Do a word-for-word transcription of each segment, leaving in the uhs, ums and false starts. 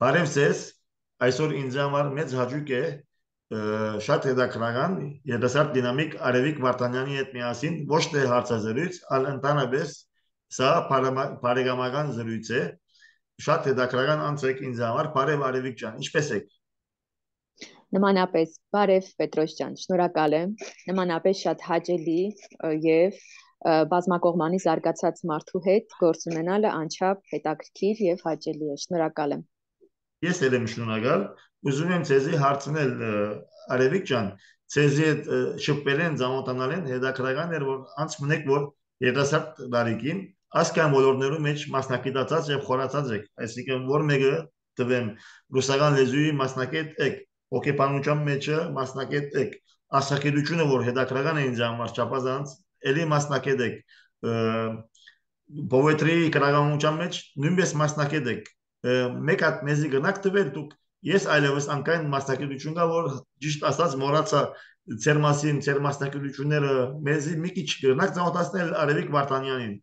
Բարև ձեզ, այսօր ինձ համար մեծ հաճույք է ը, շատ հետաքրքրական երիտասարդ դինամիկ Արևիկ Վարդանյանի հետ միասին ոչ թե հարցազրույց, այլ ընդհանրապես սա բարեմա- բարեկամական զրույց է։ Շատ հետաքրքրական անց եք ինձ համար, բարև Արևիկ ջան, ինչպե՞ս եք։ Նմանապես, բարև Պետրոս ջան, շնորհակալ եմ։ Նմանապես շատ հաճելի ը, եւ ը, բազմակողմանի զարգացած մարդու հետ գործ ունենալը անչափ հետաքրքիր եւ հաճելի է։ Շնորհակալ եմ։ Ես էլ եմ շնորհակալ։ Ուզում եմ ցեզի հարցնել ը, Արևիկ ջան, ցեզի հետ ը, շփվել են, ծանոթանալ են, հետաքրքրական էր որ անց մնեք որ երիտասարդ տարիքին ասկան ոլորտներում մեջ մասնակցած եւ խորացած եք, այսինքն որ մեկը տվեմ ռուսական լեզուի մասնակետ եք, հոգեբանության մեջը մասնակետ եք, ասակերությունը որ հետաքրքրական է ինձ համար չափազանց, ելի մասնակետ եք, poetry գրականության մեջ նույնպես մասնակետ եք մեկ հատ մեզի գնաք տվել դուք ես այլևս անկայն մասնակցություն կա որ ճիշտ ասած մոռացա ձեր մասին ձեր մասնակցությունները մեզի մի քիչ գնաք ծանոթացնել Արևիկ Վարդանյանին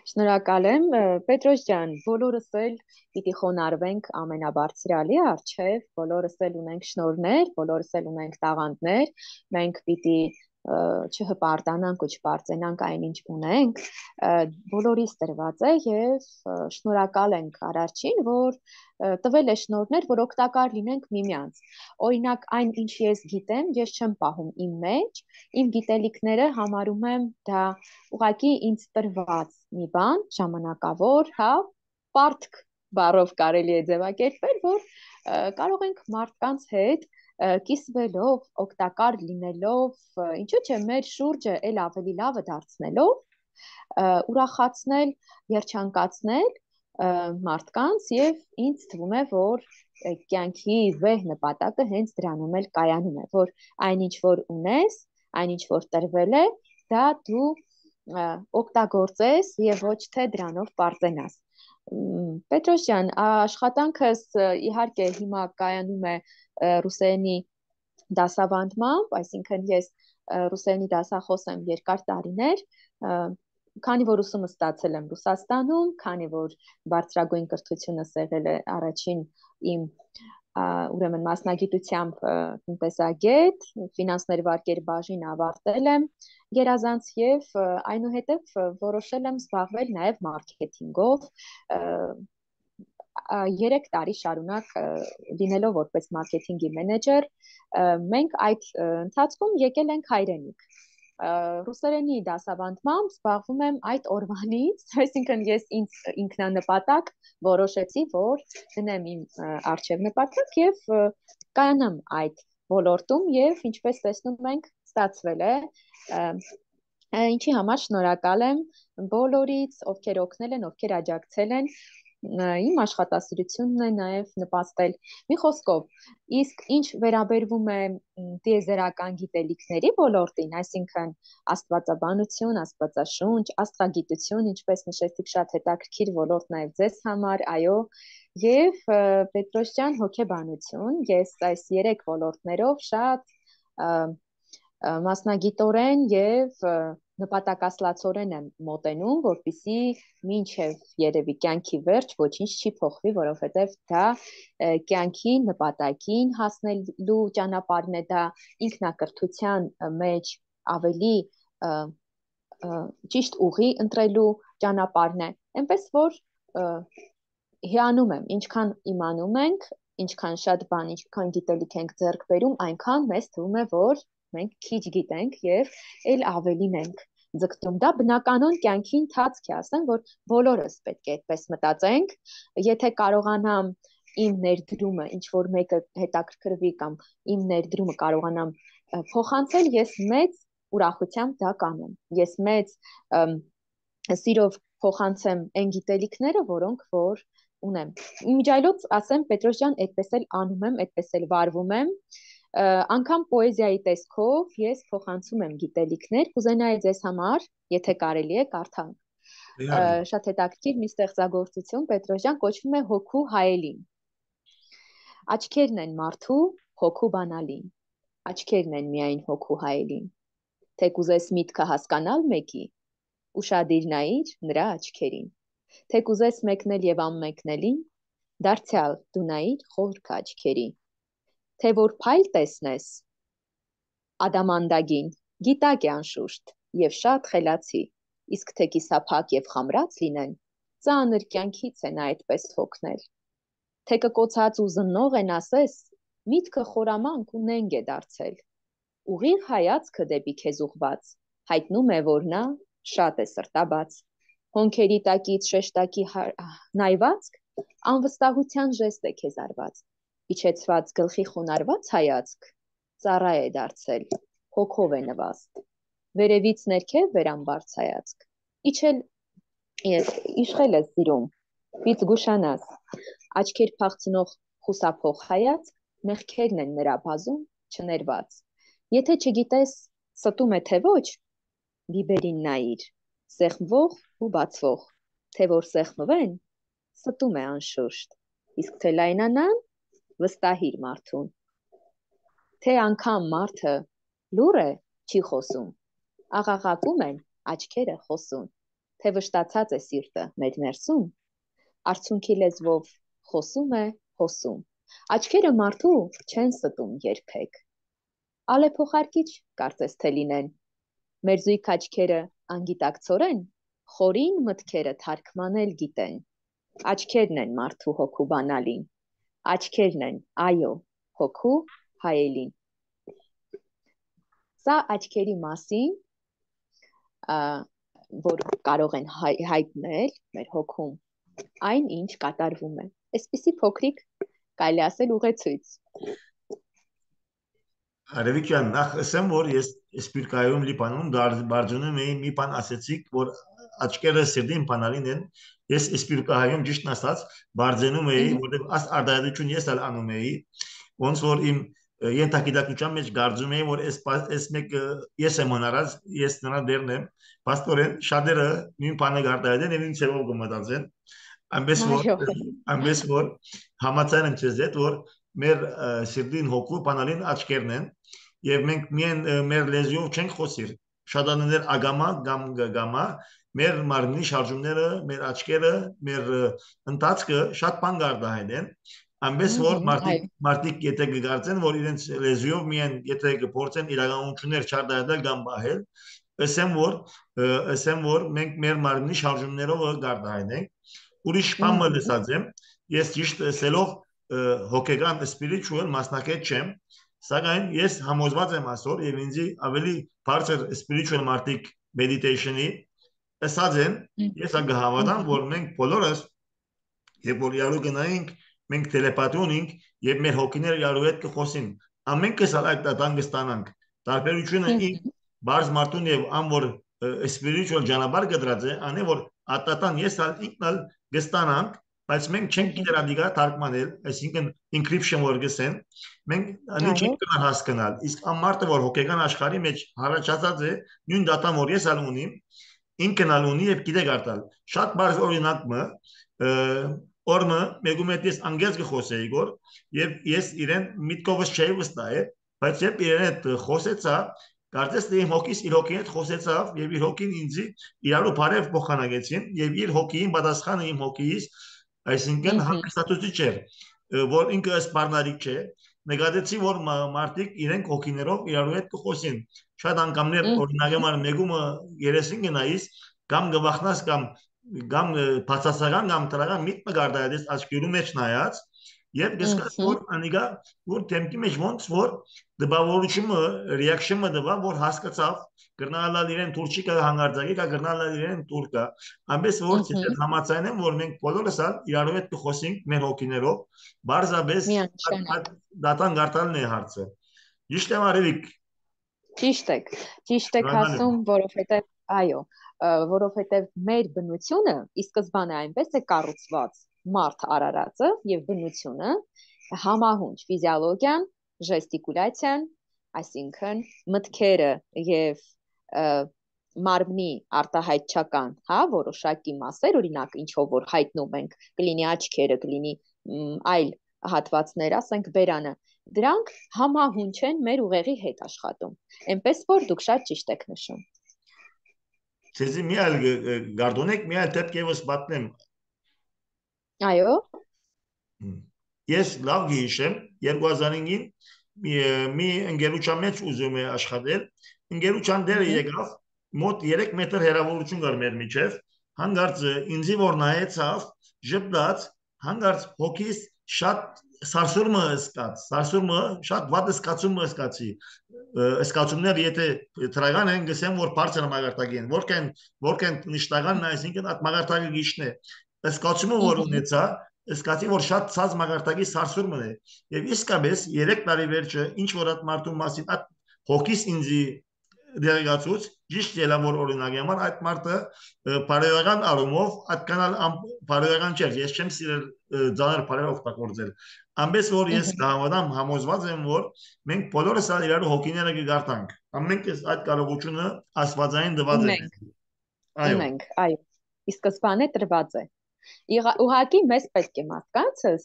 Շնորհակալ եմ, ը, Պետրոս ջան, բոլորս էլ պիտի խոնարհվենք ամենաբարձրալի առջև, բոլորս էլ ունենք շնորհներ, բոլորս էլ ունենք տաղանդներ, մենք պիտի ը, չհպարտանանք ու չպարծենանք այն ինչ ունենք, ը, բոլորիս տրված է եւ ը, շնորհակալ ենք Արարչին, որ ը, տվել է շնորհներ, որ օգտակար լինենք միմյանց։ Օրինակ, այն ինչ ես գիտեմ, ես չեմ պահում իմ մեջ, իմ գիտելիքները համարում եմ դա ուղղակի ինձ տրված մի բան, ժամանակավոր, հա, պարտք բառով կարելի է ձևակերպել, որ ը, կարող ենք մարդկանց հետ ը, կիսվելով, օգտակար լինելով, ը, ինչու՞ չէ մեր շուրջը ել ավելի լավը դարձնելով, ը, ուրախացնել, երջանկացնել ը, մարդկանց եւ ինձ թվում է, որ ը, կյանքի վեհ նպատակը հենց դրանում էլ կայանում է, որ այնինչ որ ունես, այնինչ որ տրվել է, դա դու ը, օգտագործես եւ ոչ թե դրանով պարծենաս։ Մ, Պետրոս ջան, աշխատանքս ը, իհարկե հիմա կայանում է ը, ռուսերենի դասավանդմամբ, այսինքն ես ը, ռուսերենի դասախոս եմ երկար տարիներ, ը, քանի որ ուսումը ստացել եմ Ռուսաստանում, քանի որ բարձրագույն կրթությունս եղել է առաջին իմ ա, ուրեմն մասնագիտությամբ ը, տնտեսագետ, ֆինանսներ վարկեր բաժին ավարտել եմ գերազանց եւ ը, այնուհետև ը, որոշել եմ զբաղվել նաեւ մարքեթինգով, ը, ա, երեք տարի շարունակ ը, լինելով որպես մարքեթինգի մենեջեր, ը, մենք այդ ը, ընթացքում եկել ենք հայրենիք։ Ա, Ռուսերենի դասավանդմամբ զբաղվում եմ այդ օրվանից, այսինքն ես ինձ ինքնանպատակ որոշեցի, որ դնեմ իմ ը, առջև նպատակ եւ ը, կանամ այդ ոլորտում եւ ինչպես տեսնում ենք, ստացվել է։ Ա, ա, Ինչի համար շնորհակալ եմ բոլորից, ովքեր օգնել են, ովքեր աջակցել են ը, իմ աշխատասիրությունն է նաև նպաստել։ Մի խոսքով, իսկ ինչ վերաբերվում է մ, տիեզերական գիտելիքների ոլորտին, այսինքն աստվածաբանություն, աստվածաշունչ, աստղագիտություն, ինչպես նշեցիք, շատ հետաքրքիր ոլորտ նաև ձեզ համար, այո, եւ ը, Պետրոս ջան, հոգեբանություն, ես այս երեք ոլորտներով շատ ը, ը, մասնագիտորեն եւ ը, նպատակասլացորեն եմ մոտենում, որպիսի մինչև երևի կյանքի վերջ ոչինչ չի փոխվի, որովհետև դա ը, կյանքի նպատակին հասնելու ճանապարհն է, դա ինքնակրթության ը, մեջ ավելի ը, ը, ճիշտ ուղի ընտրելու ճանապարհն է։ Էնպես որ ը, հիանում եմ, ինչքան իմանում ենք, ինչքան շատ բան, ինչքան գիտելիք ենք ձեռք բերում, այնքան մեզ թվում է, որ մենք քիչ գիտենք եւ ել ավելին ենք ձգտում։ Դա բնականon կյանքի ընթացք է, ասեմ, որ բոլորս պետք է այդպես մտածենք։ Եթե կարողանամ իմ ներդրումը, ինչ որ մեկը հետաքրքրվի կամ իմ ներդրումը կարողանամ ը, փոխանցել, ես մեծ ուրախությամբ դա կանեմ։ Ես մեծ ըմ, սիրով փոխանցեմ այն գիտելիքները, որոնք որ ունեմ։ Իմիջիայլոց ասեմ, Պետրոս ջան, այդպես էլ անում եմ, այդպես էլ վարվում եմ։ Ը, Անգամ պոեզիայի տեսքով ես փոխանցում եմ գիտելիքներ, կուզենայի ձեզ համար, եթե կարելի է, կարդալ։ Ը, իհարկե Շատ հետաքրքիր մի ստեղծագործություն, Պետրոս ջան, կոչվում է Հոգու հայելին։ Աչքերն են մարդու հոգու բանալին, աչքերն են միայն հոգու հայելին։ Թե կուզես միտքը հասկանալ մեկի, ուշադիր նայիր նրա աչքերին։ Թե կուզես մեկնել եւ անմեկնելին, Դարձյալ դու նայիր խորք աչքերի, թե որ փայլ տեսնես, ադամանդագին, գիտակ է անշուշտ եւ շատ խելացի, իսկ թե կիսափակ եւ խամրած լինեն, ծանր կյանքից են այդպես հոգնել։ Թե կկոցած ու զննող են ասես, միտքը խորամանկ ու նենգ է դարձել։ Ուղիղ հայացքը դեպի քեզ ուղված, հայտնում է, որ նա շատ է սրտաբաց։ Հոնքերի տակից շեշտակի նայվածք, անվստահության ժեստ է քեզ արված, իջեցված գլխի խոնարհված հայացք, ծառա է դարձել, հոգով է նվաստ, վերևից ներքև վերամբարձ հայացք, իջել իշխել է սիրում, պից գուշանաս, աչքեր փախցնող խուսափող հայացք, մեղքերն են նրա բազում չներված, եթե չգիտես ստում է թե ոչ, բիբերին նայիր, սեղմվող ու բացվող, թե որ սեղմվեն, ստում է անշուշտ, իսկ թե լայնանան, վստահիր մարդուն, թե անգամ մարդը լուր է, չի խոսում, աղաղակում են աչքերը խոսում, թե վշտացած է սիրտը մեր ներսում, արցունքի լեզվով խոսում է հոսում, աչքերը մարդու չեն ստում երբեք, ալեփոխարկիչ կարծես թե լինեն, մեր զույգ աչքերը անգիտակցորեն, խորին մտքերը թարգմանել գիտեն, աչքերն են մարդու հոգու բանալին, աչքերն են, այո, հոգու հայելին։ Սա աչքերի մասին, որ կարող են հայտնել մեր հոգում, այն ինչ կատարվում է, այսպիսի փոքրիկ կարելի ասել ուղեցույց։ Արևիկյան, նախ ասեմ, որ ես սպիրկայում լիպանում բարձունում էի մի բան ասեցիք, որ աչքերը սիրտին բանալին են, ես սպիրկայում ճիշտ ասած բարձենում էի, որտեղ աս արդայություն ես ալ անում էի, ոնց որ իմ ենթագիտակցության մեջ կարծում էի, որ այս մեկ ես եմ հնարած, ես նրա դերն եմ, պաստորեն շատերը նույն բանը գարտայեն եւ ինձ ծերով կմտածեն, այնպես որ այնպես որ համաձայն եմ ձեզ հետ, որ մեր սիրտին հոգու բանալին աչքերն են եւ մենք միայն մեր լեզվով չենք խոսիր շատաներ ագամա գամ գամա մեր մարմնի շարժումները մեր աչքերը մեր ընթացքը շատ բան գարտահայտ են այնպես որ մարդիկ մարդիկ եթե կգործեն որ իրենց լեզվով միայն եթե կփորձեն իրականություններ չարտահայտել կամ բահել ասեմ որ ասեմ որ մենք մեր մարմնի շարժումներով գարտահայտենք ուրիշ բան մտածած եմ ես ճիշտ ասելով հոգեգան spiritual մասնակից չեմ սակայն ես համոզված եմ ասոր եւ ինձ ավելի բարձր spiritual մարդիկ meditation-ի ասած են ես անգահավատամ որ մենք բոլորս երբ որ իրար գնայինք մենք տելեպաթի ունենք եւ մեր հոգիները իրար հետ կխոսին ամենքս այդ տան կստանանք տարբերությունը ինք բարձ մարդուն եւ ան որ spiritual ճանապարհ գդրած է անի որ ատատան ես ալ ինքնալ կստանանք բայց մենք չենք գիտեր ադիգա թարգմանել, այսինքն encryption որ գսեն, մենք անի չենք կնալ հասկանալ, իսկ ամարտը որ հոգեգան աշխարհի մեջ հարաճած է, նույն դատան որ ես ալ ունիմ, ինքն ալ ունի եւ գիտե գարտալ։ Շատ բարձ օրինակը օրը մեգում հետ ես անգլիաց կխոսեի գոր եւ ես իրեն միտքովս չէի վստահ, բայց երբ իրեն հետ խոսեցա Կարծես թե իմ հոգիս իր հոգին հետ խոսեցավ եւ իր հոգին ինձ իրարու բարև փոխանակեցին եւ իր հոգին պատասխանը իմ հոգիս այսինքն հանգստացուցիչ էր որ ինքը սպառնալիք չէ նկատեցի որ մարդիկ իրենք հոգիներով իրարու հետ կխոսին շատ անգամներ օրինակ համար մեգումը երեսին գնայիս կամ գվախնաս կամ կամ բացասական կամ տրական միտքը գարտայես աչքերու մեջ նայած Եվ գսկաս որ անիգա որ թեմքի մեջ ոնց որ դպավորությունը ռեակցիոնը դվա որ հասկացավ գրնալալ իրեն թուրքիկը հանգարձակի կա գրնալալ իրեն թուրքա ամենս որ ցետ համացայն եմ որ մենք բոլորս իրարու հետ կխոսենք մեր հոգիներով բարձաբես դատան գարտալն է հարցը ճիշտ եմ արևիկ ճիշտ եք ճիշտ եք ասում որովհետև այո որովհետև մեր բնությունը ի սկզբանե այնպես է կառուցված մարդ արարածը եւ բնությունը համահունչ ֆիզիոլոգիան, ժեստիկուլյացիան, այսինքն մտքերը եւ մարմնի արտահայտչական, հա, որոշակի մասեր, օրինակ ինչով որ հայտնում ենք, կլինի աչքերը, կլինի այլ հատվածներ, ասենք բերանը, դրանք համահունչ են մեր ուղեղի հետ աշխատում։ Այնպես որ դուք շատ ճիշտ եք նշում։ Ցեզի մի այլ գարդոնեք մի այլ դեպք եւս պատմեմ Այո։ Ես լավ գիշեմ երկու հազար հինգին մի ընկերության մեջ ուզում է աշխատել ընկերության դերը եկավ մոտ երեք մետր հեռավորություն կար մեր միջև հանգարց ինձի որ նայեցավ ժպտաց հանգարց հոգիս շատ սարսուրմը ըսկաց սարսուրմը շատ վատ ըսկացումը ըսկացի ըսկացումներ եթե տրական են գսեմ որ բարձր մագարտակի են որքան որքան նշտականն այսինքն այդ մագարտակը գիշն է ըսկացումը որ ունեցա Սկացի որ շատ ցած մագարտակի սարսուրմն է եւ իսկապես երեք տարի վերջը ինչ որ այդ մարդու մասին այդ հոգիս ինձի դերեկացուց ճիշտ ելավոր օրինակ համար այդ մարդը բարոյական առումով այդքան բարոյական չէր ես չեմ սիրել ձանր բարոյ օգտագործել ամենից որ ես կհամոզեմ համոզված եմ որ մենք բոլորս իրար հոգիները կգարտանք ամենքս այդ կարողությունը աստվածային դված է այո այո ի սկզբանե տրված է Ուղղակի մեզ պետք է մարդկանցս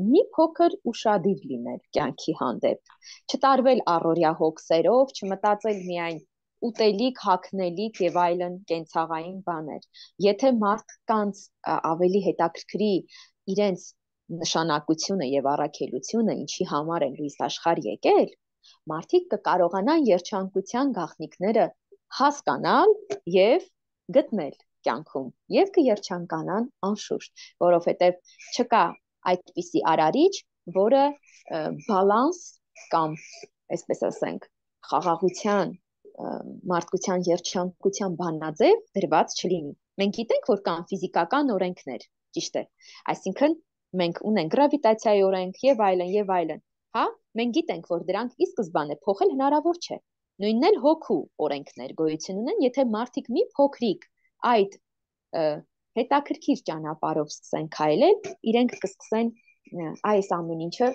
մի փոքր ուշադիր լինել կյանքի հանդեպ, չտարվել առօրյա հոգսերով, չմտածել միայն ուտելիք, հագնելիք եւ այլն կենցաղային բաներ։ Եթե մարդկանց ավելի հետաքրքրի իրենց նշանակությունը եւ առաքելությունը, ինչի համար են լույս աշխարհ եկել, մարդիկ կկարողանան երջանկության գաղտնիքները հասկանալ եւ գտնել կյանքում եւ կերջանկանան անշուշտ, որովհետեւ չկա այդպիսի արարիչ, որը բալանս կամ այսպես ասենք, խաղաղության, մարդկության երջանկության բանաձև դրված չլինի։ Մենք գիտենք, որ կան ֆիզիկական օրենքներ, ճիշտ է։ Այսինքն մենք ունենք գրավիտացիայի օրենք եւ այլն եւ այլն։ Հա, մենք գիտենք, որ դրանք ի սկզբանե փոխել հնարավոր չէ։ Նույնն էլ հոգու օրենքներ գոյություն ունեն, եթե մարդիկ մի փոքրիկ այդ հետաքրքիր ճանապարհով սկսեն քայլել, իրենք կսկսեն այս ամեն ինչը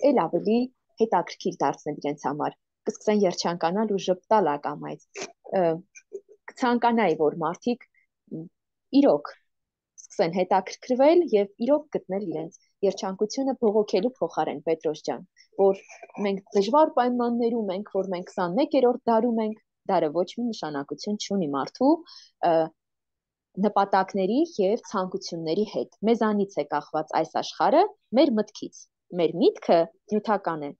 ել ավելի հետաքրքիր դարձնել իրենց համար, կսկսեն երջանկանալ ու ժպտալ ակամայից։ Կցանկանայի, որ մարդիկ իրոք սկսեն հետաքրքրվել եւ իրոք գտնել իրենց երջանկությունը բողոքելու փոխարեն Պետրոս ջան, որ մենք դժվար պայմաններում ենք, որ մենք քսանմեկերորդ դարում ենք, դարը ոչ մի նշանակություն չունի մարդու նպատակների եւ ցանկությունների հետ։ Մեզանից է կախված այս աշխարհը, մեր մտքից։ Մեր միտքը նյութական է։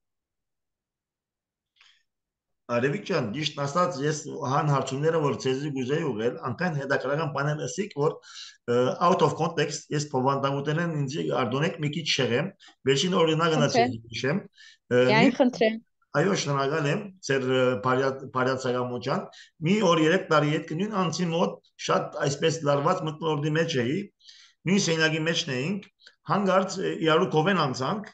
Արևիկ ջան, ճիշտ ասած, ես հան հարցումները որ ցեզի գուզեի ուղել, անկան հետաքրական բաներ ասիկ, որ out of context ես փոխանցուտենեն ինձ արդյունք մի քիչ շեղեմ, վերջին օրինակը նա ցեզի հիշեմ։ Յայն խնդրեմ։ Այո, շնորհակալ եմ, ծեր բարյացակամոջան։ Մի օր երեք տարի հետ կնույն անցի մոտ շատ այսպես լարված մտնորդի մեջ էի, նույն սենյակի մեջն էինք, հանգարց իրարու կովեն անցանք,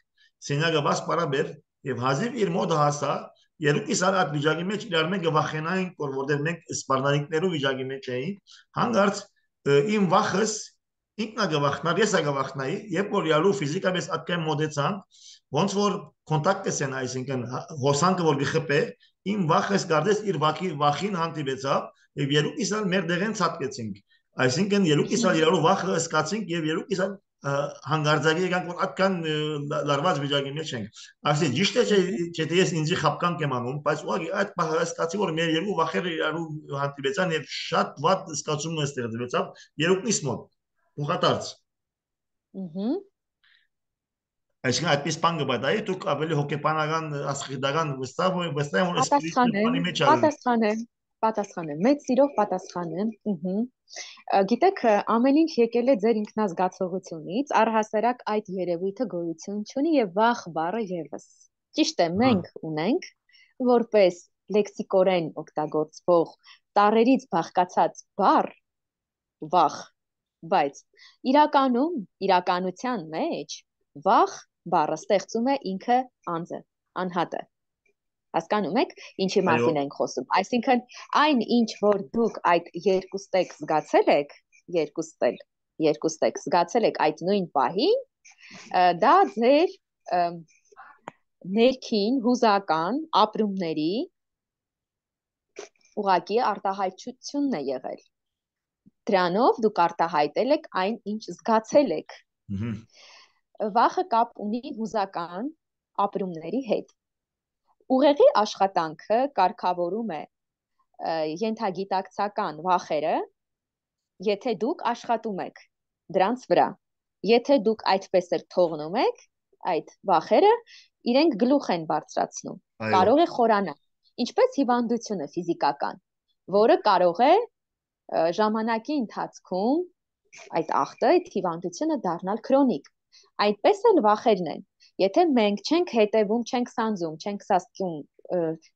սենյակը բաց պարաբեր եւ հազիվ իր մոտ հասա, երկու սար այդ վիճակի մեջ իրար մենք վախենայինք, որ որտեղ մենք սպառնալիքներով վիճակի մեջ էինք, հանգարց իմ վախս ինքնա գվախնար, ես ագավախնայի, երբ որ իրարու ֆիզիկապես այդքան մոտեցանք, ոնց որ կոնտակտ են, այսինքն հոսանքը որ գխփե, իմ վախս գարդես իր վախի վախին հանդիպեցավ եւ երկու սալ մեր դեղեն ցածկեցինք։ Այսինքն երկու սալ իրարու վախը ըսկացինք եւ երկու սալ հանգարձակի եկանք որ այդքան լարված վիճակի մեջ ենք։ Այսինքն ճիշտ է չէ թե ես ինձի խապկան կեմ անում, բայց ուղղակի այդ բանը ըսկացի որ մեր երկու վախերը իրարու հանդիպեցան եւ շատ վատ ըսկացում ստեղծվեցավ երկուիս մոտ։ Ուղղատարած։ Ահա Այսինքն այդպես բան կբադայի, դուք ավելի հոգեբանական, աստղիդական վստահ եք, վստահ եմ, որ սպիրիտուալի մեջ ալու։ Պատասխան եմ, պատասխան եմ, մեծ սիրով պատասխան եմ։ Ահա։ Գիտեք, ամեն ինչ եկել է ձեր ինքնազգացողությունից, առհասարակ այդ երևույթը գոյություն չունի եւ վախ բառը եւս։ Ճիշտ է, մենք ունենք որպես լեքսիկորեն օգտագործվող տառերից բաղկացած բառ վախ, բայց իրականում, իրականության մեջ վախ բառը ստեղծում է ինքը անձը, անհատը։ Հասկանում եք, ինչի մասին ենք խոսում։ Այսինքն, այն ինչ որ դուք այդ երկուստեք զգացել եք, երկուստել, երկուստեք զգացել եք այդ նույն պահին, դա ձեր ներքին հուզական ապրումների ուղղակի արտահայտությունն է եղել։ Դրանով դուք արտահայտել եք այն, ինչ զգացել եք։ Վախը կապ ունի հուզական ապրումների հետ։ Ուղեղի աշխատանքը կարգավորում է ենթագիտակցական վախերը, եթե դուք աշխատում եք դրանց վրա։ Եթե դուք այդպես էլ թողնում եք, այդ վախերը իրենք գլուխ են բարձրացնում, կարող է խորանալ, ինչպես հիվանդությունը ֆիզիկական, որը կարող է ժամանակի ընթացքում այդ ախտը, այդ հիվանդությունը դառնալ քրոնիկ, այդպես էլ վախերն են, եթե մենք չենք հետևում, չենք սանձում, չենք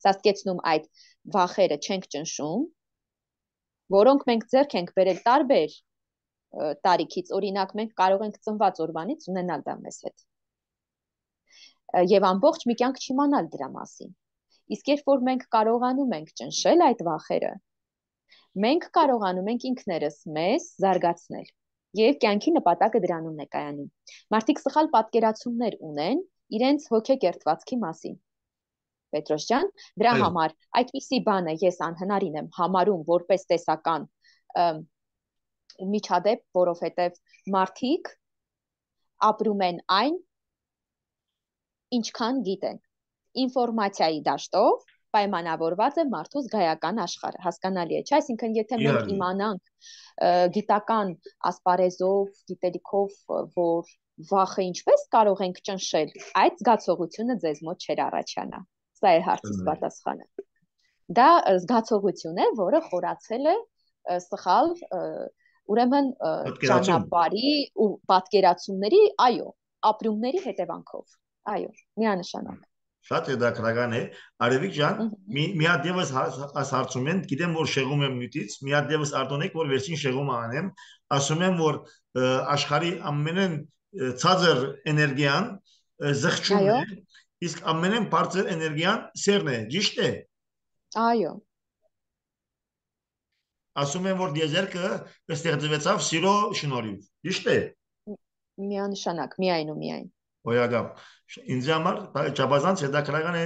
սաստկեցնում այդ վախերը, չենք ճնշում, որոնք մենք ձեռք ենք բերել տարբեր տարիքից, օրինակ մենք կարող ենք ծնված օրվանից ունենալ դա մեզ հետ եւ ամբողջ մի կյանք չիմանալ դրա մասին, իսկ երբ որ մենք կարողանում ենք ճնշել այդ վախերը, մենք կարողանում ենք ինքներս մեզ զարգացնել եւ կյանքի նպատակը դրանում է կայանում, մարդիկ սխալ պատկերացումներ ունեն իրենց հոգեկերտվածքի մասին, Պետրոս ջան, դրա համար այդպիսի բանը ես անհնարին եմ համարում որպես տեսական միջադեպ, որովհետև մարդիկ ապրում են այն, ինչքան գիտեն, ինֆորմացիայի դաշտով պայմանավորված է մարդու զգայական աշխարհը, հասկանալի է, չէ՞, այսինքն եթե մենք իմանանք գիտական ասպարեզով, գիտելիքով, որ վախը ինչպես կարող ենք ճնշել, այդ զգացողությունը ձեզ մոտ չէր առաջանա, սա է հարցիս պատասխանը, դա զգացողություն է, որը խորացել է սխալ ուրեմն ճանապարհի ու պատկերացումների, այո, ապրումների հետևանքով, այո, միանշանակ։ Շատ հետաքրքրական է, Արևիկ ջան, մի հատ ևս այս հարցում են, գիտեմ որ շեղում եմ նյութից, մի հատ ևս արտոնեք, որ վերջին շեղումը անեմ, ասում եմ, որ աշխարհի ամենեն ցածր էներգիան զղջումն է, իսկ ամենեն բարձր էներգիան սերն է, ճիշտ է։ Այո։ Ասում եմ, որ դիեզերքը ստեղծվեցավ սիրո շնորհիվ, ճիշտ է։ Միանշանակ, միայն ու միայն։ Ոյագամ, ինձ համար չափազանց հետաքրքրական է,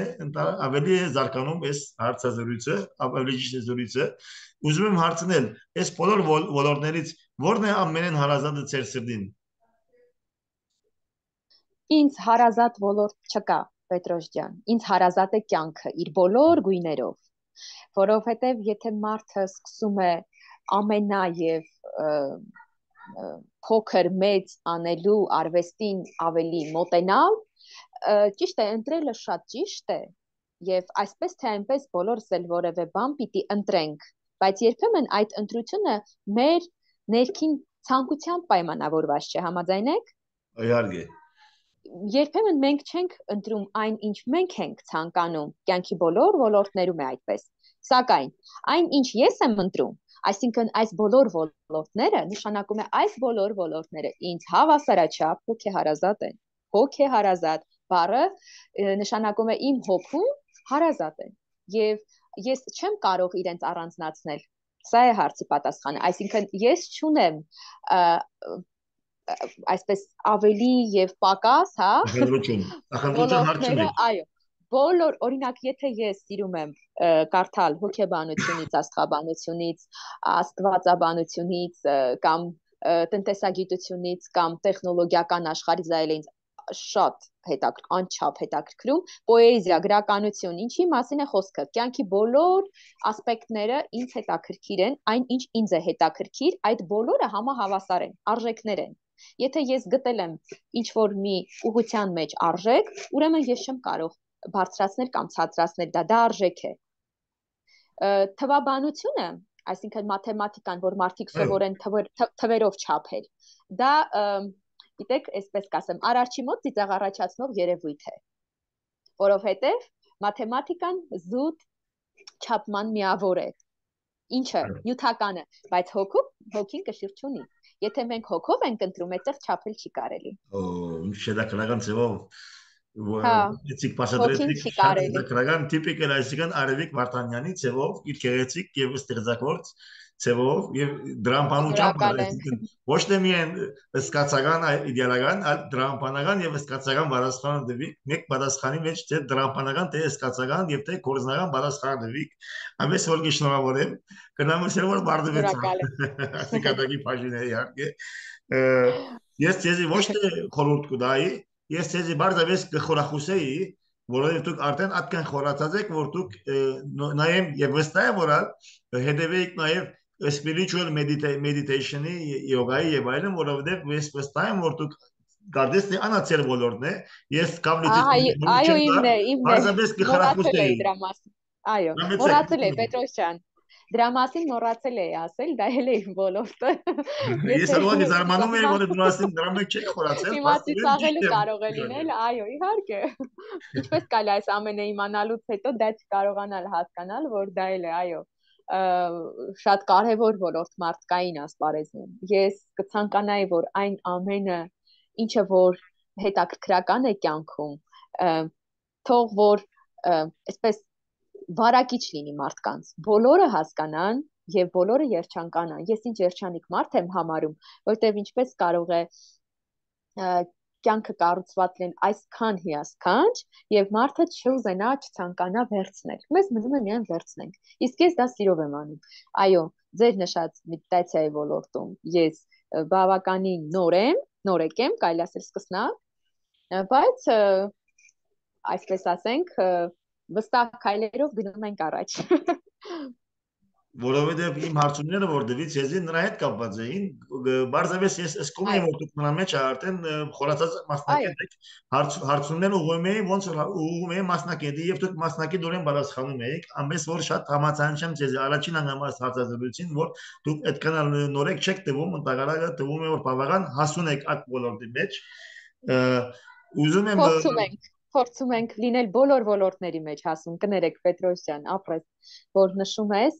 ավելի է զարգանում այս հարցազրույցը, ավելի ճիշտ է զրույցը։ Ուզում եմ հարցնել, այս բոլոր ոլորտներից ո՞րն է ամենեն հարազատը ձեր սրտին։ Ինձ հարազատ ոլորտ չկա, Պետրոս ջան, ինձ հարազատ է կյանքը իր բոլոր գույներով, որովհետև եթե մարդը սկսում է ամենա եւ փոքր մեծ անելու արվեստին ավելի մոտենալ, ճիշտ է, ընտրելը շատ ճիշտ է եւ այսպես թե այնպես բոլորս էլ որևէ բան պիտի ընտրենք, բայց երբեմն այդ ընտրությունը մեր ներքին ցանկությամբ պայմանավորված չէ, համաձայն եք։ Իհարկե։ Երբեմն մենք չենք ընտրում այն, ինչ մենք ենք ցանկանում, կյանքի բոլոր ոլորտներում է այդպես, սակայն այն, ինչ ես եմ ընտրում, այսինքն այս բոլոր ոլորտները, նշանակում է այս բոլոր ոլորտները ինձ հավասարաչափ հոգեհարազատ են, հոգեհարազատ բառը նշանակում է իմ հոգում հարազատ են, եւ ես չեմ կարող իրենց առանձնացնել, սա է հարցի պատասխանը, այսինքն ես չունեմ այսպես ավելի եւ պակաս, հա, ոլորտները, այո, բոլոր, օրինակ, եթե ես սիրում եմ կարդալ հոգեբանությունից, աստղաբանությունից, աստվածաբանությունից կամ տնտեսագիտությունից կամ տեխնոլոգիական աշխարհից, դա էլ ինձ շատ հետաքրքրում, անչափ հետաքրքրում, պոեզիա, գրականություն, ինչի մասին է խոսքը, կյանքի բոլոր ասպեկտները ինձ հետաքրքիր են, այն ինչ ինձ է հետաքրքիր, այդ բոլորը համահավասար են, արժեքներ են։ Եթե ես գտել եմ ինչ-որ մի ուղղության մեջ արժեք, ուրեմն ես չեմ կարող բարձրացնել կամ ցածրացնել դա, դա արժեք է։ Թվաբանությունը, այսինքն մաթեմատիկան, որ մարդիկ սովորեն թվերով չափել, դա, գիտեք, այսպես կասեմ, արարչի մոտ ծիծաղ առաջացնող երևույթ է, որովհետև մաթեմատիկան զուտ չափման միավոր է, ինչը նյութականը, բայց հոգում հոգին կշիռ չունի։ Եթե մենք հոգով ենք ընտրում, այդտեղ չափել չի կարելի։ Օ, շեդակնական ձևով Էցիկ հոգին չի կարելի։ պատասխանական տիպիկ է, այսինքն Արևիկ Վարդանյանի ձևով, իր գեղեցիկ եւ ստեղծագործ ձևով եւ դրամբանությամբ, այսինքն ոչ թե միայն սկացական իդեալական, այլ դրամբանական եւ սկացական բարձրացան դեպի մեկ պատասխանի մեջ թե դրամբանական թե սկացական եւ թե կորզնական բարձրացան դեպի ամես որ գշնորհավորեմ կնամսել որ բարդվեցա ասիկատակի բաժին է իհարկե ես ցեզի ոչ թե խորհուրդ կուտայի ես ցեզի բարձավես կխորախուսեի որովհետև դուք արդեն այդքան խորացած եք որ դուք նայեմ եւ վստահ եմ որ հետեւեիք նաեւ spiritual meditation-ի, յոգայի եւ այլն, որովհետեւ ես վստահ եմ, որ դուք գարդես դե անացել ոլորտն է, ես կապլիցիստի Այո, չեմ իմն գար, է, իմն է։ բարձրապես Մոռացել կխրախուսեի։ էի դրա մասին։ Այո, Համեցեք։ մոռացել էի, Պետրոս ջան։ Դրա մասին մոռացել էի ասել, դա էլ է իմ ոլորտը։ Ես Եթե ալուղի զարմանում եմ, հիմա որ դու ասին դրա մեջ չեք խորացել, հիմա փաստորեն ծիծաղելու ճիշտ եմ։ կարող է լինել, այո, իհարկե։ Ինչպես կարելի այս ամենը իմանալուց հետո դա չկարողանալ հասկանալ, որ դա էլ է, այո, շատ կարևոր ոլորտ մարդկային ասպարեզում։ Ես կցանկանայի, որ այն ամենը, ինչը որ հետաքրքրական է կյանքում, թող որ այսպես վարակիչ լինի մարդկանց, բոլորը հասկանան եւ բոլորը երջանկանան։ Ես ինչ երջանիկ մարդ եմ համարում, որտեղ ինչպես կարող է կյանքը կառուցված լինել այսքան հիասքանչ եւ մարդը չուզենա, չցանկանա վերցնել։ Մեզ մնում է միայն վերցնենք։ Իսկ ես դա սիրով եմ անում։ Այո, ձեր նշած մեդիտացիայի ոլորտում ես բավականին նոր եմ, նորեկ եմ, կարելի ասել սկսնակ, բայց այսպես ասենք, վստահ քայլերով գնում ենք առաջ։ Որովհետև իմ հարցումները որ դվից եզի նրա հետ կապված էին, բարձրապես ես ասկում եմ, որ դուք նրա մեջ արդեն խորացած մասնակետ եք, հարցումներ ուղղում էի, ոնց որ ուղղում էի մասնակետի եւ դուք մասնակետ դուրեն պատասխանում եք, ամենից որ շատ համաձայն եմ ձեզ առաջին անգամ այս հարցազրույցին, որ դուք այդքան նորեկ չեք տվում, ընդհանրապես տվում է որ բավական հասուն եք այդ ոլորտի մեջ։ Ուզում եմ Փորձում ենք Փորձում ենք լինել բոլոր ոլորտների մեջ հասուն, կներեք Պետրոս ջան, ապրես, որ նշում ես,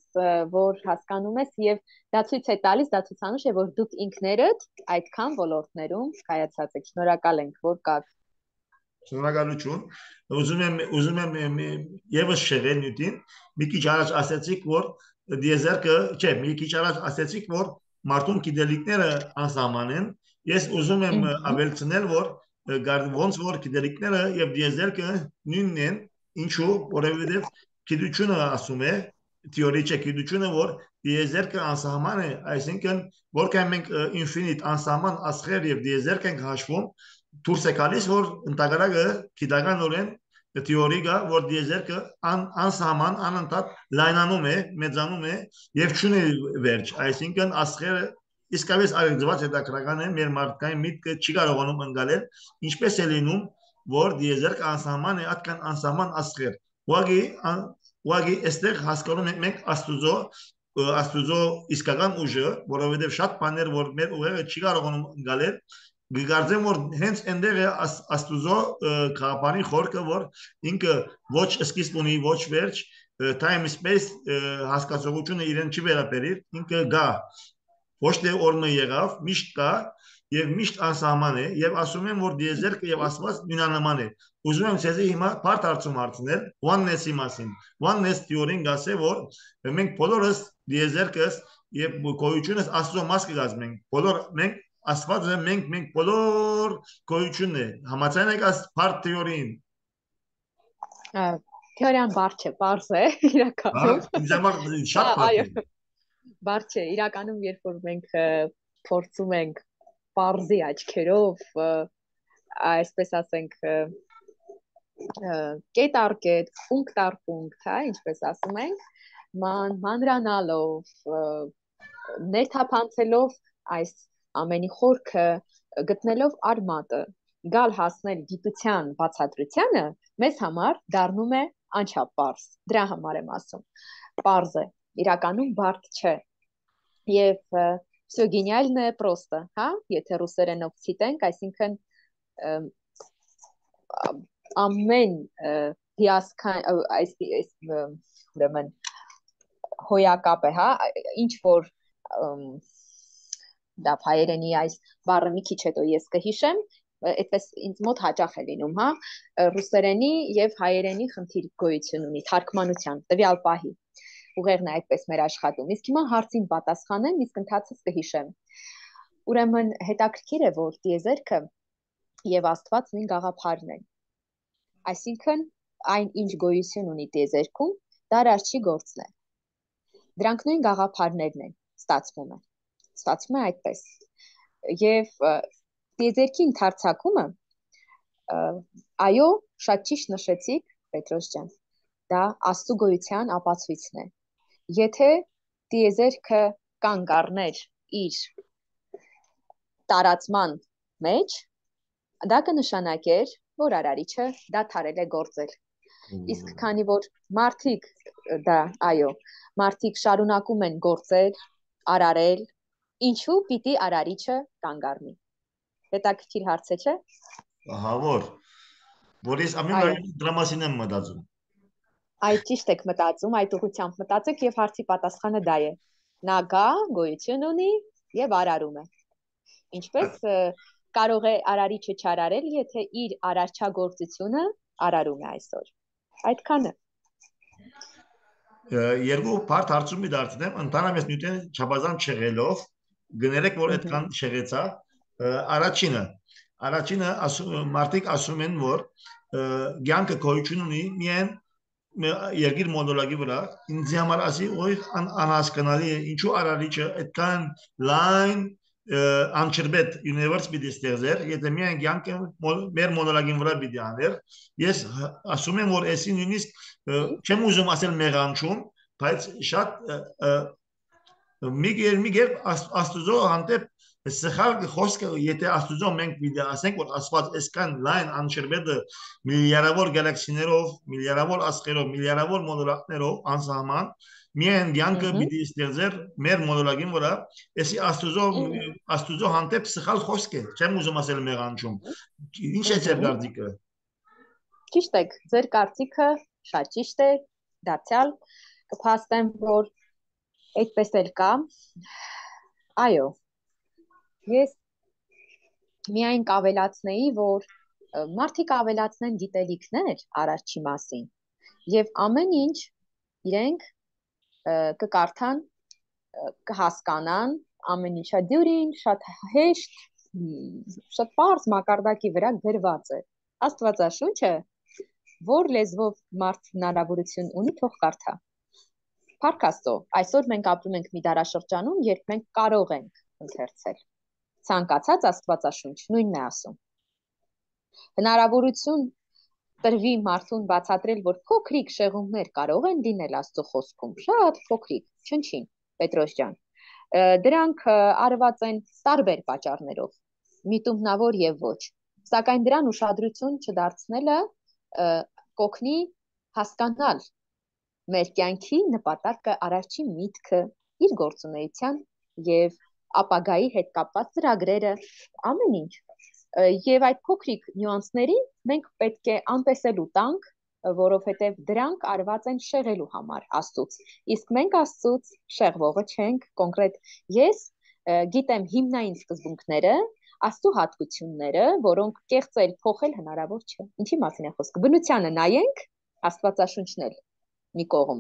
որ հասկանում ես եւ դա ցույց է տալիս, դա ցուցանիշ է, որ դուք ինքներդ այդքան ոլորտներում կայացած եք։ Շնորհակալ ենք, որ կաք։ Շնորհակալություն։ Ուզում եմ ուզում եմ եւս շեղել նյութին, մի քիչ առաջ ասացիք, որ դիեզերքը, չէ, մի քիչ առաջ ասացիք, որ մարդուն գիտելիքները անսահման են։ Ես ուզում եմ ավելցնել, որ ոնց որ գիտելիքները եւ դիեզերքը նույնն են, ինչու, որովհետեւ գիտությունը ասում է, թեորի չէ, գիտությունը որ դիեզերքը անսահման է, այսինքն որքան մենք ինֆինիտ անսահման աստղեր եւ դիեզերք ենք հաշվում, դուրս է գալիս որ ընդհանրակը գիտականորեն թեորի կա, որ դիեզերքը անսահման անընդհատ լայնանում է, մեծանում է եւ չունի վերջ, այսինքն աստղերը իսկապես այլևս հետաքրքրական է մեր մարդկային միտքը չի կարողանում ընկալել ինչպես է լինում որ դիեզերքը անսահման է այդքան անսահման աստղեր ուղղակի ուղղակի այստեղ հասկանում ենք մենք աստուծո աստուծո իսկական ուժը որովհետև շատ բաներ որ մեր ուղեղը չի կարողանում ընկալել գկարձեմ որ հենց այնտեղ է աստուծո քաղաքանի խորքը որ ինքը ոչ սկիզբ ունի ոչ վերջ time space հասկացողությունը իրեն չի վերաբերիր ինքը գա ոչ թե օրնը եղավ, միշտ կա եւ միշտ անսահման է եւ ասում եմ որ դիեզերքը եւ աստված նույնանման է։ Ուզում եմ ցեզի հիմա բարդ հարցում հարցնել oneness-ի մասին։ Oneness theory-ն գասե որ մենք բոլորս դիեզերքս եւ գոյությունս աստծո մաս կգազմենք։ Բոլոր մենք աստվածը մենք մենք բոլոր գոյությունն է։ Համաձայն եք այս բարդ theory-ին։ Թեորիան բարդ չէ, պարզ է իրականում։ Բարդ, շատ բարդ է։ Բարդ չէ, իրականում երբ որ մենք փորձում ենք պարզի աչքերով, այսպես ասենք, կետ առ կետ, պունկտ առ պունկտ, հա, ինչպես ասում ենք, ման մանրանալով, ներթափանցելով այս ամենի խորքը, գտնելով արմատը, գալ հասնել գիտության բացատրությանը, մեզ համար դառնում է անչափ պարզ։ Դրա համար եմ ասում։ Պարզ է, իրականում բարդ չէ։ Եվ всё гениальное просто, հա, եթե ռուսերենով ցիտենք, այսինքն ամեն հիասքան այս ուրեմն հոյակապ է, հա, ինչ որ դա հայերենի այս բառը մի քիչ հետո ես կհիշեմ, այդպես ինձ մոտ հաճախ է լինում, հա, ռուսերենի եւ հայերենի խնդիր գոյություն ունի թարգմանության տվյալ պահի։ Ուղերն է այդպես մեր աշխատում։ Իսկ հիմա հարցին պատասխանեմ, իսկ ընթացից կհիշեմ։ Ուրեմն հետաքրքիր է, որ դիեզերքը եւ Աստված նույն գաղափարն են։ Այսինքն այն ինչ գոյություն ունի դիեզերքում, դա արարչի գործն է։ Դրանք նույն գաղափարներն են, ստացվում է։ Ստացվում է այդպես։ Եվ դիեզերքի ընդարձակումը, այո, շատ ճիշտ նշեցիք, Պետրոս ջան, դա Աստծո գոյության ապացույցն է։ Եթե դիեզերքը կանգ առներ իր տարածման մեջ, դա կնշանակեր, որ արարիչը դադարել է գործել։ Իսկ քանի որ մարդիկ դա, այո, մարդիկ շարունակում են գործել, արարել, ինչու պիտի արարիչը կանգ առնի։ Հետաքրքիր հարց է, չէ՞։ Ահա որ, որ ես ամեն դրա մասին եմ մտածում։ Այդ ճիշտ եք մտածում, այդ ուղղությամբ մտածեք եւ հարցի պատասխանը դա է։ Նա գա, գոյություն ունի եւ արարում է։ Ինչպես կարող է արարիչը չարարել, եթե իր արարչագործությունը արարում է այսօր։ Այդքանը։ Երկու բարդ հարցում մի դարձնեմ, ընդհանրապես նյութեն չափազանց չեղելով, գներեք, որ այդքան չեղեցա, առաջինը, առաջինը մարդիկ ասում են, որ կյանքը գոյություն ունի միայն երկիր մոդոլագի վրա, ինձ համար ասի, ոյ անհասկանալի է, ինչու արարիչը այդքան լայն անչրբետ universe պիտի ստեղծեր, եթե միայն կյանքը մեր մոնոլոգին վրա պիտի աներ, ես ասում եմ, որ էսի նույնիսկ չեմ ուզում ասել մեղանչում, բայց շատ մի կերպ Աստուծո հանդեպ սխալ խոսքը, եթե Աստուծո մենք պիտի ասենք, որ Աստված այսքան լայն անչրբետը միլիարդավոր գալակսիներով, միլիարդավոր աստղերով, միլիարդավոր մոդուլատներով անսահման միայն կյանքը պիտի ստեղծեր մեր մոդուլագին վրա, էսի Աստուծո Աստուծո հանդեպ սխալ խոսք է, չեմ ուզում ասել մեղանչում։ Ինչ է ձեր կարծիքը։ Ճիշտ եք, ձեր կարծիքը շատ ճիշտ է, դարձյալ կփաստեմ, որ այդպես էլ կա։ Այո, ես միայն կավելացնեի, որ մարդիկ ավելացնեն գիտելիքներ արարչի մասին եւ ամեն ինչ իրենք կկարդան, կհասկանան, ամեն ինչա դյուրին շատ հեշտ, շատ պարզ մակարդակի վրա գրված է։ Աստվածաշունչը, որ լեզվով մարդ հնարավորություն ունի, թող կարդա։ Փառք Աստծո, այսօր մենք ապրում ենք մի դարաշրջանում, երբ մենք կարող ենք ընթերցել։ Ցանկացած աստվածաշունչ նույնն է ասում։ Հնարավորություն տրվի մարդուն բացատրել, որ փոքրիկ շեղումներ կարող են լինել Աստծո խոսքում, շատ փոքրիկ, չնչին, Պետրոս ջան։ Դրանք արված են տարբեր պատճառներով, միտումնավոր եւ ոչ։ Սակայն դրան ուշադրություն չդարձնելը կօգնի հասկանալ մեր կյանքի նպատակը, արարչի միտքը, իր գործունեության եւ ապագայի հետ կապված ծրագրերը, ամեն ինչ։ Եվ այդ փոքրիկ նյուանսներին մենք պետք է անտեսելու տանք, որովհետև դրանք արված են շեղելու համար Աստծուց։ Իսկ մենք Աստծուց շեղվողը չենք, կոնկրետ ես գիտեմ հիմնային սկզբունքները, Աստծո հատկությունները, որոնք կեղծել, փոխել հնարավոր չէ։ Ինչի մասին է խոսքը։ Բնությանը նայենք, Աստվածաշունչն էլ մի կողմ։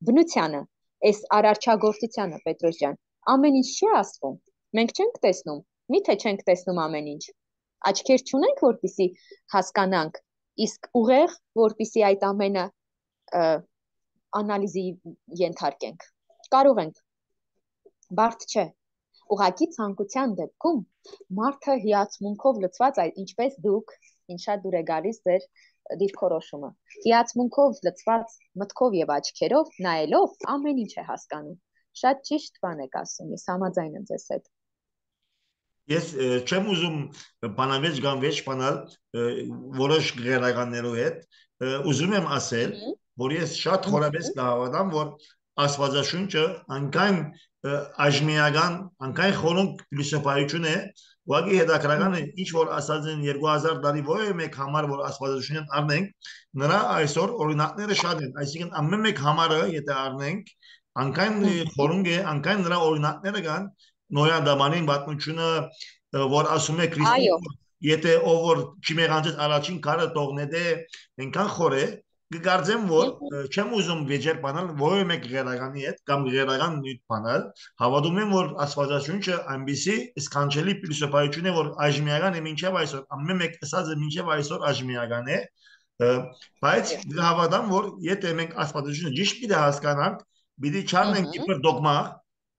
Բնությանը, այս արարչագործությանը, Պետրոս ջան, ամեն ինչ չի ասվում։ Մենք չենք տեսնում, միթե չենք տեսնում ամեն ինչ։ Աչքեր չունենք, որպեսզի հասկանանք, իսկ ուղեղ, որպեսզի այդ ամենը անալիզի ենթարկենք։ Կարող ենք, բարդ չէ։ Ուղղակի ցանկության դեպքում մարդը հիացմունքով լցված, ինչպես դուք, ինչ շատ դուր է գալիս ձեր դիրքորոշումը։ Հիացմունքով լցված մտքով եւ աչքերով նայելով ամեն ինչ է հասկանում։ Շատ ճիշտ բան եք ասում, ես համաձայն եմ ձեզ հետ։ Ես չեմ ուզում բանավեճ կամ վեճ բանալ որոշ գերականներու հետ, ուզում եմ ասել, որ ես շատ խորապես կհավատամ, որ Աստվածաշունչը անկայն այժմիական, անկայն խորունկ փիլիսոփայություն է, ուղղակի հետաքրական է, ինչ որ ասած են երկու հազար տարի որևէ մեկ համար, որ Աստվածաշունչն առնենք, նրա այսօր օրինակները շատ են, այսինքն ամեն մեկ համարը, եթե առնենք, անկայն խորունկ է, անկայն նրա օրինակները կան, Նոյա դամանին պատմությունը, որ ասում է Քրիստոս, եթե ով որ չմեղանջեց առաջին քարը տողնե դե այնքան խոր է, կգարձեմ, որ չեմ ուզում վեճեր բանալ որևէ մեկ գերականի հետ կամ գերական նյութ բանալ, հավատում եմ, որ Աստվածաշունչը այնպիսի սքանչելի փիլիսոփայություն է, որ այժմիական է մինչև այսօր, ամեն մեկ ասած է մինչև այսօր այժմիական է, բայց հավատամ, որ եթե մենք Աստվածաշունչը ճիշտ պիտի հասկանանք, պիտի չառնենք իբր դոգմա,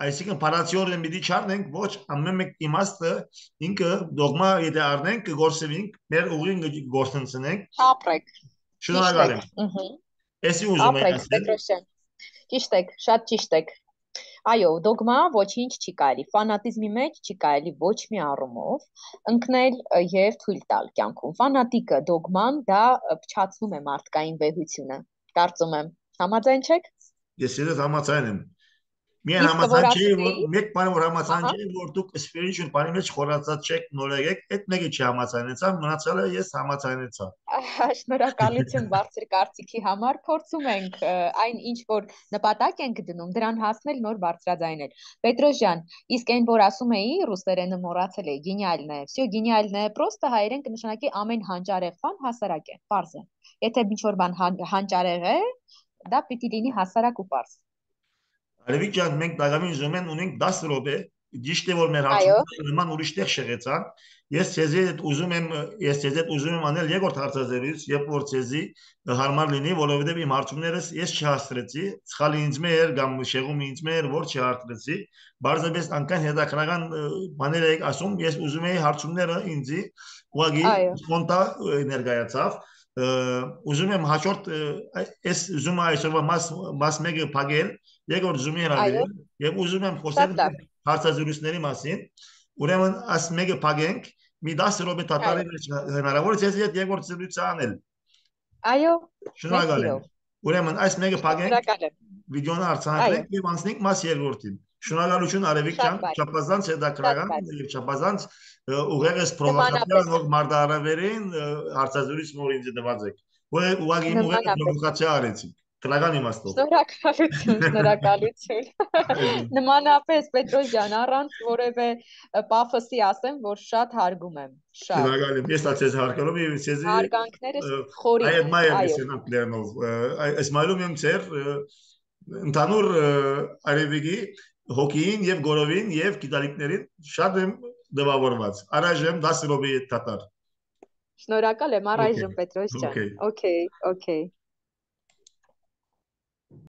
այսինքն պարացիորեն պիտի չառնենք, ոչ ամեն մեկ իմաստը ինքը դոգմա եթե առնենք, կգործենք, մեր ուղին գործընծնենք։ Ապրեք։ Շնորհակալ եմ։ Էսի ուզում եմ ասել։ Ճիշտ եք, շատ ճիշտ եք։ Այո, դոգմա ոչինչ չի կարելի, ֆանատիզմի մեջ չի կարելի ոչ մի առումով ընկնել եւ թույլ տալ կյանքում։ Ֆանատիկը դոգման դա փչացնում է մարդկային վեհությունը։ Կարծում եմ, համաձայն չեք։ Ես իրոք համաձայն եմ։ Միայն Իսկ որ համաձայն չի, որ ասում մեկ բան որ համաձայն ահա չի, որ դուք spiritual բանի մեջ խորացած չեք, նորեգեք, այդ մեկը չի համաձայնեցա, մնացյալը ես համաձայնեցա։ Շնորհակալություն բարձր կարծիքի համար։ Փորձում ենք ը, այն ինչ որ նպատակ ենք դնում, դրան հասնել, նոր բարձրաձայնել։ Պետրոս ջան, իսկ այն որ ասում էի, ռուսերենը մոռացել էի, գենիալն է։ Всё գենիալն է, պրոստը հայերեն կնշանակի ամեն հանճարեղ բան հասարակ է, պարզ է։ Եթե ինչ որ բան հան- հանճարեղ է, դա պիտի լինի հասարակ ու պարզ։ Արևիկ ջան, մենք դակամին զոմեն ունենք դաս րոպե, ճիշտ է որ մեր Այո, հարցումները նման ուրիշ տեղ շեղեցան։ Ես ցեզի հետ ուզում եմ, ես ցեզի հետ ուզում եմ անել երկրորդ հարցազրույց, երբ որ ցեզի հարմար լինի, որովհետև իմ հարցումներս ես չհաստրեցի, սխալի ինձ մեր կամ շեղում ինձ մեր, որ չհաստրեցի, բարձրապես անկան հետաքրական բաներ եք ասում, ես ուզում եի հարցումները ինձի ուղղակի այո, սպոնտա ներկայացավ։ Ուզում եմ հաջորդ այս ուզում այսօրվա մաս մաս մեկը փակել, երկրորդ զումի այո, հրավիրել եւ ուզում եմ խոսել շատ լավ։ հարցազրույցների մասին։ Ուրեմն աս մեկը փակենք, մի դասը րոպե Այո, տատարի մեջ հնարավոր է ես երկրորդ զրույցը անել։ այո, մեծ Շնորհակալ եմ։ սիրով։ Ուրեմն այս մեկը փակենք, Շնորհակալ եմ։ վիդեոն Այո, արձանագրենք եւ անցնենք մաս երկրորդին։ Շնորհակալություն Արևիկ շատ ջան, բարի, չափազանց շատ հետաքրական բարի։ եւ չափազանց ուղեղս պրովոկացիա Նմանապես, նոր մարտահրավերին հարցազրույց նոր ինձ դված եք։ Որ ուղղակի իմ ուղեղը նմանապես։ պրովոկացիա արեցիք։ Քնական իմաստով։ Շնորհակալություն, շնորհակալություն։ Նմանապես Պետրոս ջան, առանց որևէ պաֆոսի ասեմ, որ շատ հարգում եմ, շատ։ Շնորհակալ եմ։ Ես ցեզ հարգելով եւ ցեզի Հարգանքներս խորին այ են, մայր այո, լսենակ լերնով այս մայլում եմ ցեր ընդհանուր արևիկի հոգին եւ գորովին եւ գիտալիկներին շատ եմ դվավորված։ Առայժմ դաս րոպե տատար։ շնորհակալ եմ Okay. առայժմ Պետրոս ջան։ Okay. Okay, okay։